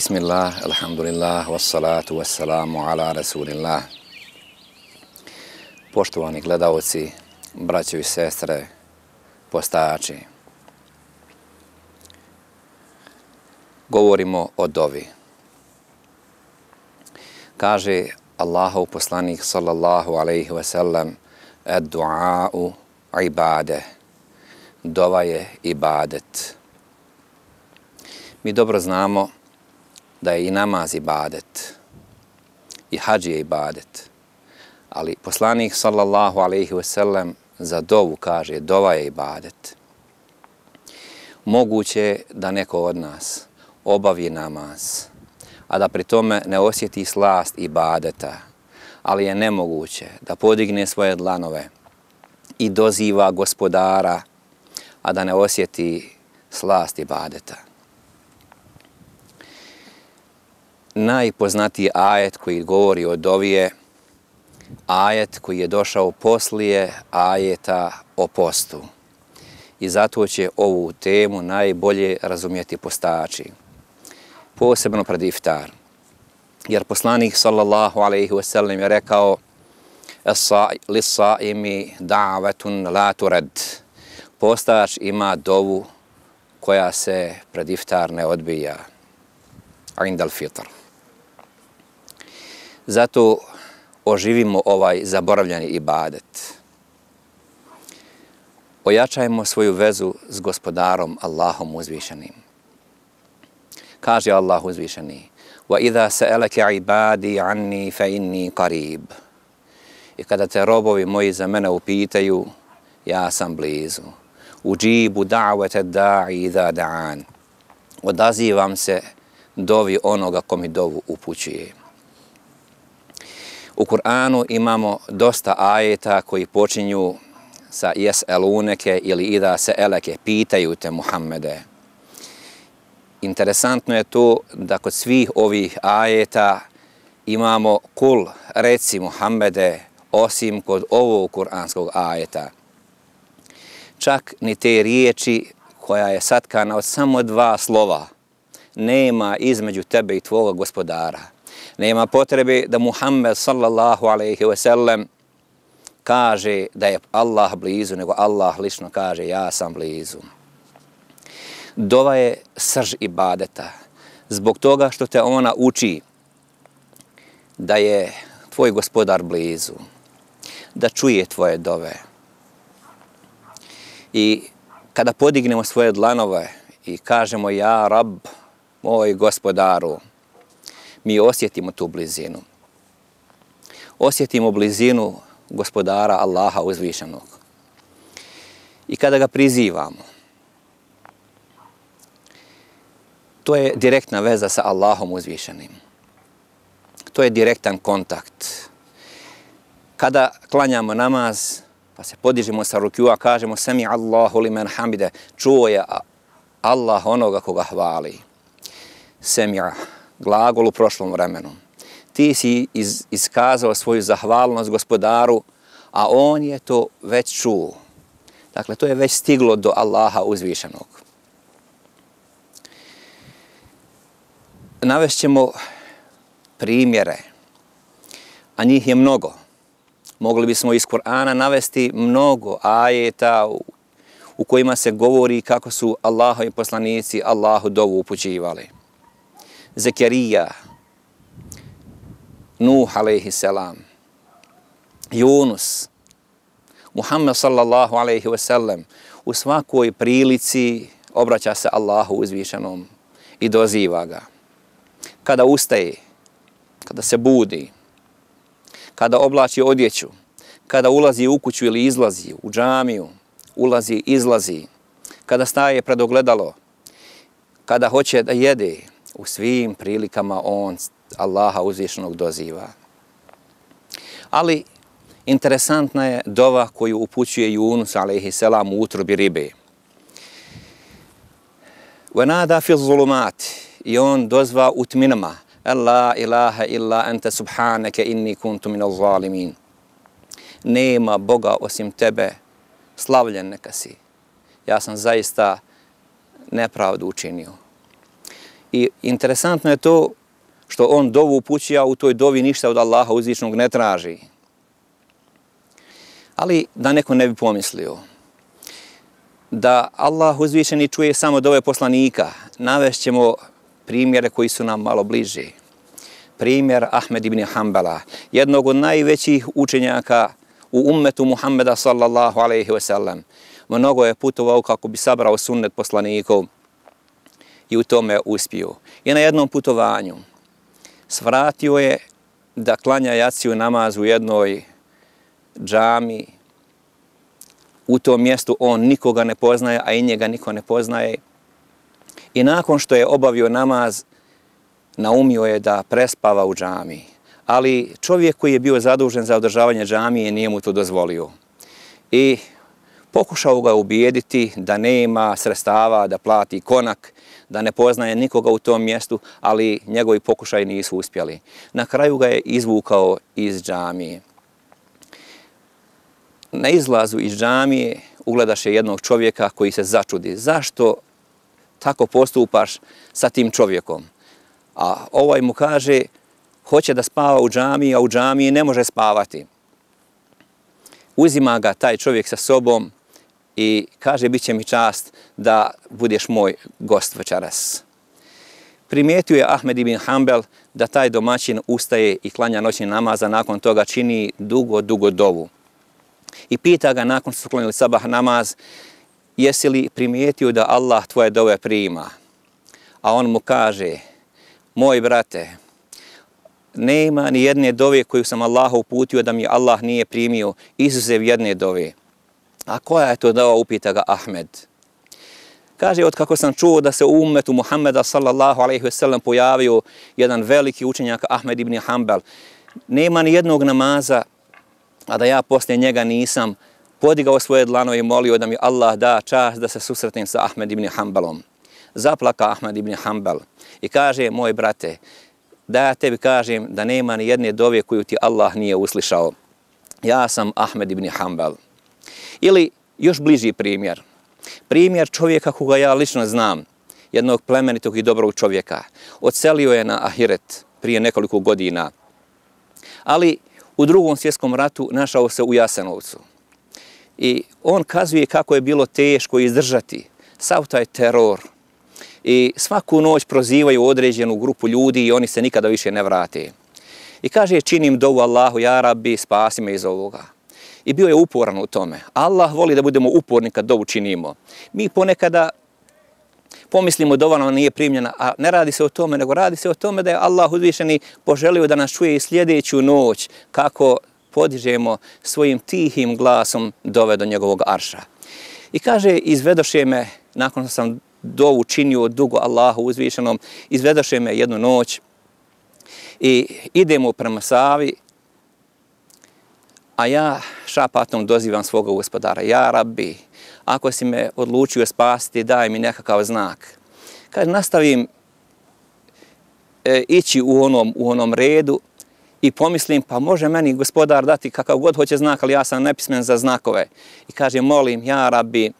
Bismillah, alhamdulillah, wassalatu wassalamu ala rasulillah. Poštovani gledalci, braćo i sestre, postajači. Govorimo o dovi. Kaže Allahov poslanik sallallahu alaihi wasallam, ad-du'a'u ibade. Dova je ibadet. Mi dobro znamo da je i namaz ibadet, i hadž je ibadet. Ali poslanik sallallahu alaihi wasallam za dovu kaže, dova je ibadet. Moguće da neko od nas obavi namaz, a da pri tome ne osjeti slast ibadeta, ali je nemoguće da podigne svoje dlanove i doziva gospodara, a da ne osjeti slast ibadeta. Najpoznatiji ajet koji govori o dovi je ajet koji je došao poslije ajeta o postu. I zato će ovu temu najbolje razumjeti postači, posebno pred iftar. Jer poslanik sallallahu alaihi wasallam je rekao lis-saimi da'vatun la turad. Postač ima dovu koja se pred iftar ne odbija. Indal fitr. Zato oživimo ovaj zaboravljeni ibadet. Ojačajmo svoju vezu s gospodarom Allahom uzvišenim. Kaže Allah uzvišeni: وَإِذَا سَأَلَكَ عِبَادِي عَنِّي فَإِنِّي قَرِيبٌ. I kada te robovi moji za mene upitaju, ja sam blizu. Uđibu da'wata da'i idha da'an. Odazivam se dovi onoga ko mi dovu upućuje. U Kur'anu imamo dosta ajeta koji počinju sa jes'eluneke ili idha se'eleke, pitaju te Muhammede. Interesantno je to da kod svih ovih ajeta imamo kul, reci Muhammede, osim kod ovog kuranskog ajeta. Čak ni te riječi koja je satkana od samo dva slova nema između tebe i tvoga gospodara. Nema potrebe da Muhammed sallallahu alaihi wasallam kaže da je Allah blizu, nego Allah lično kaže ja sam blizu. Dova je srž ibadeta, zbog toga što te ona uči da je tvoj gospodar blizu, da čuje tvoje dove. I kada podignemo svoje dlanove i kažemo ja Rab, moj gospodaru, mi osjetimo tu blizinu. Osjetimo blizinu gospodara Allaha uzvišenog. I kada ga prizivamo, to je direktna veza sa Allahom uzvišenim. To je direktan kontakt. Kada klanjamo namaz, pa se podižemo sa rukua, kažemo sami Allahu limen hamide, čuo je Allah onoga koga hvali. Sami'a, glagol u prošlom vremenu. Ti si iskazao svoju zahvalnost gospodaru, a on je to već čuo. Dakle, to je već stiglo do Allaha uzvišenog. Navešćemo primjere, a njih je mnogo. Mogli bismo iz Kur'ana navesti mnogo ajeta u kojima se govori kako su Allahovi poslanici Allahu dovu upućivali. Zekerija, Nuh alaihi selam, Yunus, Muhammed sallallahu alaihi wasallam u svakoj prilici obraća se Allahu uzvišenom i doziva ga. Kada ustaje, kada se budi, kada oblači odjeću, kada ulazi u kuću ili izlazi u džamiju, ulazi, izlazi, kada staje pred ogledalo, kada hoće da jede, u svim prilikama on Allaha uzvišenog doziva. Ali interesantna je dova koju upućuje Yunus alejhi selam u utrobi ribe. وَنَادَا فِي الظُّلُمَاتِ. I on dozva u tminama. La ilaha illa anta subhanaka inni kuntu minaz zalimin. Nema Boga osim tebe, slavljen neka si. Ja sam zaista nepravdu učinio. I interesantno je to što on dovu upućuje, a u toj dovi ništa od Allaha uzvišenog ne traži. Ali da neko ne bi pomislio da Allah uzvišeni čuje samo dove poslanika, navešćemo primjere koji su nam malo bliži. Primjer Ahmed ibn Hanbala, jednog od najvećih učenjaka u ummetu Muhammeda sallallahu alaihi wa sallam. Mnogo je putovao kako bi sabrao sunnet poslanikov i u tome uspio. I na jednom putovanju svratio je da klanja jaciju namaz u jednoj džami. U tom mjestu on nikoga ne poznaje, a i njega niko ne poznaje. I nakon što je obavio namaz, naumio je da prespava u džami. Ali čovjek koji je bio zadužen za održavanje džamije nije mu to dozvolio. I pokušao ga ubijediti da nema sredstava da plati konak, da ne poznaje nikoga u tom mjestu, ali njegovi pokušaji nisu uspjeli. Na kraju ga je izvukao iz džamije. Na izlazu iz džamije ugledaše jednog čovjeka koji se začudi. Zašto tako postupaš sa tim čovjekom? A ovaj mu kaže, hoće da spava u džamiji, a u džamiji ne može spavati. Uzima ga taj čovjek sa sobom i kaže, bit će mi čast da budeš moj gost večeras. Primijetio je Ahmed ibn Hanbal da taj domaćin ustaje i klanja noćni namaz, a nakon toga čini dugo dovu. I pita ga nakon što su klanjali sabah namaz, jesi li primijetio da Allah tvoje dove prima? A on mu kaže, moj brate, nema ni jedne dove koju sam Allahu uputio da mi Allah nije primio, izuzev jedne dove. A koja je to dova, upita ga Ahmed. Kaže, od kako sam čuo da se u ummetu Muhammeda sallallahu alaihi wasallam pojavio jedan veliki učenjak Ahmed ibn Hanbal, nema ni jednog namaza, a da ja poslije njega nisam podigao svoje dlanove i molio da mi Allah da čast da se susretnem sa Ahmed ibn Hanbalom. Zaplaka Ahmed ibn Hanbal i kaže, moj brate, da ja tebi kažem da nema ni jedne dove koju ti Allah nije uslišao. Ja sam Ahmed ibn Hanbal. Ili još bliži primjer. Primjer čovjeka koga ja lično znam, jednog plemenitog i dobrog čovjeka. Odselio je na ahiret prije nekoliko godina. Ali u Drugom svjetskom ratu našao se u Jasenovcu. I on kazuje kako je bilo teško izdržati sav taj teror. I svaku noć prozivaju određenu grupu ljudi i oni se nikada više ne vrate. I kaže, činim dovu Allahu, ja Rabbi, spasi me iz ovoga. I bio je uporan u tome. Allah voli da budemo uporni kad dovu činimo. Mi ponekada pomislimo dova nam nije primljena, a ne radi se o tome, nego radi se o tome da je Allah uzvišeni poželio da nas čuje i sljedeću noć kako podižemo svojim tihim glasom dove do njegovog arša. I kaže, izvedoše me, nakon što sam dovu činio dugo Allahu uzvišenom, izvedoše me jednu noć i idemo prema Savi, a ja šapatom dozivam svoga gospodara, ja Rabbi, ako si me odlučio spasiti, daj mi nekakav znak. Kaže, nastavim ići u onom redu i pomislim, pa može meni gospodar dati kakav god hoće znak, ali ja sam nepismen za znakove. I kaže, molim, ja Rabbi,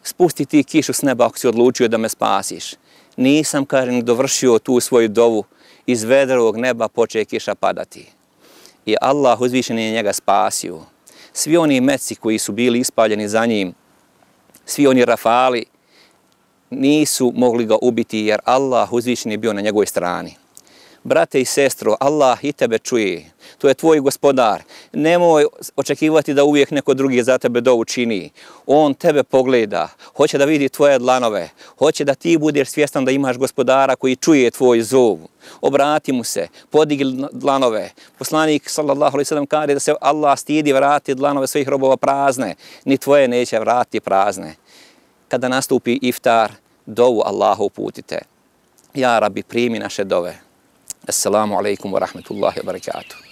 spusti ti kišu s neba ako si odlučio da me spasiš. Nisam, kaže, ni dovršio tu svoju dovu, iz vedrovog neba počeje kiša padati. I Allah uzvišen je njega spasio. Svi oni meci koji su bili ispaljeni za njim, svi oni rafali, nisu mogli ga ubiti jer Allah uzvišen je bio na njegovoj strani. Brate i sestro, Allah i tebe čuje. To je tvoj gospodar. Nemoj očekivati da uvijek neko drugi za tebe dovu čini. On tebe pogleda, hoće da vidi tvoje dlanove, hoće da ti budeš svjestan da imaš gospodara koji čuje tvoj zov. Obrati mu se, podigli dlanove. Poslanik sallallahu alejhi ve sellem kaže da se Allah stidi vrati dlanove svojih robova prazne, ni tvoje neće vratiti prazne. Kada nastupi iftar, dovu Allahu uputite. Ja Rabbi, primi naše dove. Assalamu alaikum wa rahmatullahi wa barakatuh.